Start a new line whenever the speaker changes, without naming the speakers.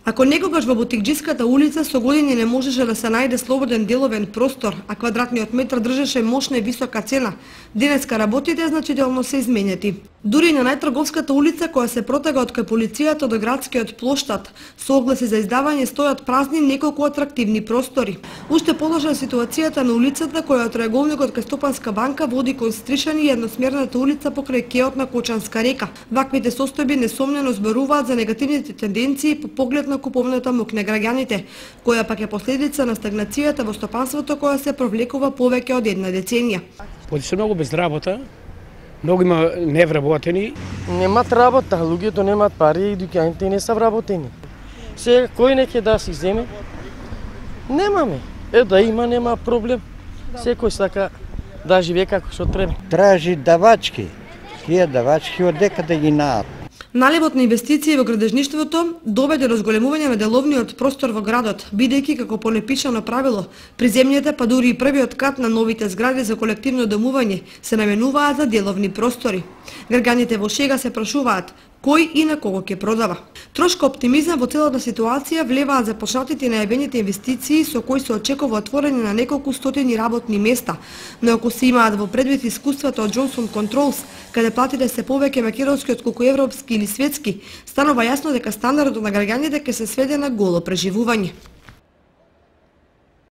Ако некогаш во Бутикџиската улица со години не можеше да се најде слободен деловен простор, а квадратниот метар држеше мощна и висока цена, денеска работите значително се изменети. Дури на најтрговската улица, која се протега од кај полицијата до градскиот плоштад, со огласи за издавање стојат празни неколку атрактивни простори. Уште полоша е ситуацијата на улицата која од траеголникот кај Стопанска банка води кон Стришани и едносмерната улица покрај кеот на Кочанска река. Ваквите состојби несомнено зборуваат за негативните тенденции по поглед на куповната моќ на граѓаните, која пак е последица на стагнацијата во стопанството која се провлекува повеќе од една деценија.
Поди се многу без работа, многу има невработени.
Немат работа, луѓето немат пари и дуќаните не се вработени. Сега кој не ќе да си земе? Немаме. Да има, нема проблем. Секој сака да живее како што треба.
Тражи давачки. Тие давачки од дека да ги наат.
Наливот на инвестиции во градежништвото доведе до зголемување на деловниот простор во градот, бидејќи како по непишано правило, приземните па дури и првиот кат на новите згради за колективно домување се наменуваат за деловни простори. Граѓаните во шега се прашуваат кој и на кого ќе продава. Трошка оптимизам во целата ситуација влеваат започнатите и најавените инвестиции со кои се очекува отворање на неколку стотини работни места, но ако се имаат во предвид искуствата од Johnson Controls, каде платите се повеќе македонски отколку европски или светски, станува јасно дека стандардот на граѓаните ќе се сведе на голо преживување.